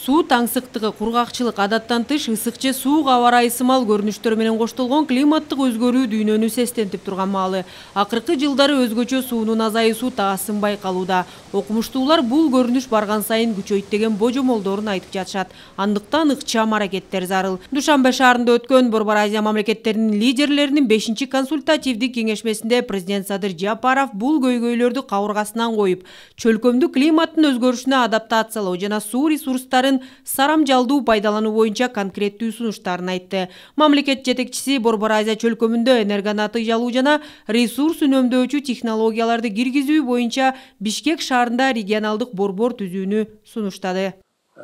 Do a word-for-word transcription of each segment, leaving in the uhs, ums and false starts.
Суу таңсыктыгы, кургакчылык, адаттан тыш ысык же суук аба ырайы сымал көрүнүштөр менен коштолгон климаттык өзгөрүү дүйнөнү сестентип турган маалы. Акыркы жылдары өзгөчө суунун азайуусу таасын байкалууда. Окумуштуулар бул көрүнүш барган сайын күчөйт деген божомолдорун айтып жатышат. Андыктан ыкчам аракеттер зарыл. Душанбе шаарында өткөн Борбор Азия мамлекеттеринин лидерлеринин бешинчи консультативдик кеңешмесинде президент Садыр Жапаров бул көйгөйлөрдү кабыргасынан коюп, чөлкөмдүк климаттын өзгөрүшүнө адаптациялоо жана суу ресурстарын сарамжалдуу пайдалануу боюнча конкреттүү сунуштарын айтты. Мамлекет жетекчиси Борбор Азия чөлкөмүндө энерго натыйжалуу жана ресурс үнөмдөөчү технологияларды киргизүү боюнча Бишкек шаарында регионалдык борбор түзүүнү сунуштады.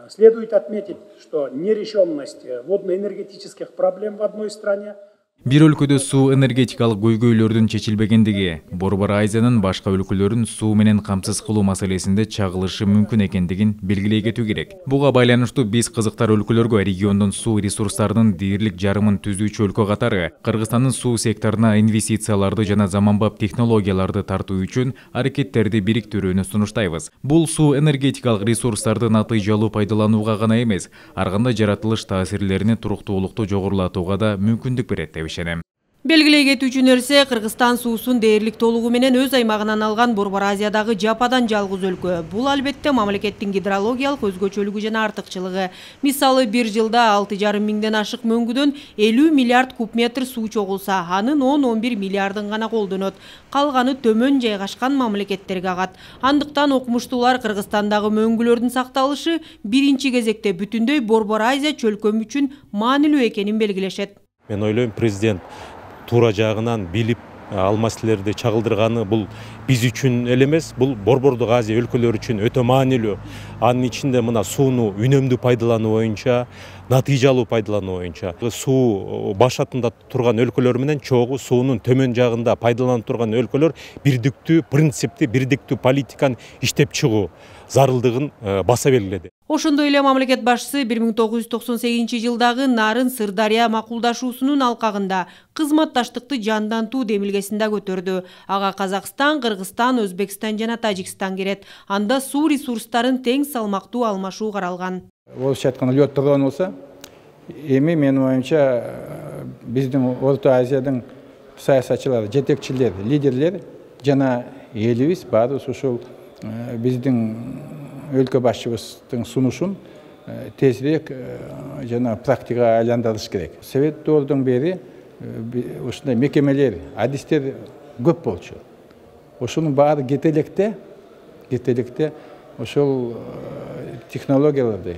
Следует отметить, что нерешенность водно-энергетических проблем в одной стране Бир өлкөдө суу энергетикалык көйгөйлөрдүн чечилбегендиги Борбор Азиянын башка өлкөлөрүн суу менен камсыз кылуу маселесинде чагылышы мүмкүн экендигин белгилей кетүү керек. Буга байланыштуу биз кызыктар өлкөлөргө региондун суу ресурстарынын дээрлик жарымын түзүүчү өлкө катары Кыргызстандын суу секторуна инвестицияларды жана заманбап технологияларды тартуу үчүн аракеттерди бириктирүүнү сунуштайбыз. Бул суу энергетикалык ресурстарды натыйжалуу пайдаланууга гана эмес, ар кандай жаратылыш таасирлерини туруктуулукту жогорулатууга да мүмкүндүк берет деп ишенем. Белгилей кетүүчү нерсе, Кыргызстан суусун дээрлик толугу менен өз аймагынан алган Борбор Азиядагы жападан жалгыз өлкө. Бул албетте мамлекеттин гидрологиялык өзгөчөлүгү жана артыкчылыгы. Мисалы, бир жылда алты жарым миңден ашык мөңгүдөн элүү миллиард куб метр суу чогулса, анын он он бир миллиардын гана колдонот. Калганы төмөн жайгашкан мамлекеттерге агат. Андыктан окумуштуулар Кыргызстандагы мөңгүлөрдүн сакталышы биринчи кезекте бүтүндөй Борбор Азия чөлкөмү үчүн маанилүү экенин белгилешет. Мен ойлойм, президент туура жагынан билип ал маселелерди чагылдырганы бул биз үчүн эле эмес, бул Борбордук Азия өлкөлөрү үчүн өтө маанилүү. Анын ичинде мына сууну үнөмдүү пайдалануу боюнча, натыйжалуу пайдалануу боюнча, суу башатында турган өлкөлөр менен чогуу суунун төмөн жагында пайдаланып турган өлкөлөр бирдиктүү принципти, бирдиктүү политиканы иштеп чыгуу зарылдыгын баса белгиледи. Ошондой эле мамлекет башчысы бир миң тогуз жүз токсон сегизинчи жылдагы Нарын-Сырдария макулдашуусунун алкагында кызматташтыкты жандантуу демилгесин да көтөрдү. Ага Казакстан, Кыргызстан, Өзбекстан жана Тажикстан кирет. Анда суу ресурстарын тең салмактуу алмашуу каралган. Болуп жаткан лёт турган болсо, эми менин оюмча биздин Орто Азиядын саясатчылары, жетекчилер, лидерлер жана элибиз баарыбыз ушул биздин өлкө башчыбыздын сунушун тезирээк жана практикага айландырыш керек. Совет доордон бери ушундай мекемелер, адистер көп болчу. Ошонун баары кетелекте, кетелекте ошол технологияларды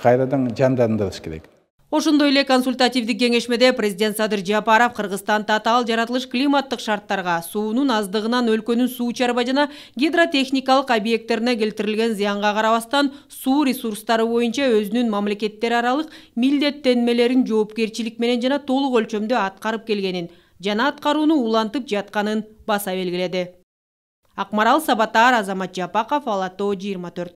кайрадан жандандырыш керек. Ошондой эле консультативдик кеңешмеде президент Садыр Жапаров Кыргызстан татаал жаратылыш климаттык шарттарга, суунун аздыгынан өлкөнүн суу чарба жана гидротехникалык объекттерине келтирилген зыянга карабастан суу ресурстары боюнча өзүнүн мамлекеттер аралык милдеттенмелерин жоопкерчилик менен жана толук өлчөмдө аткарып келгенин жана аткарууну улантып жатканын баса белгиледи. Акмарал Сабатар, Азамат Жапаков, Ала Тоо жыйырма төрт.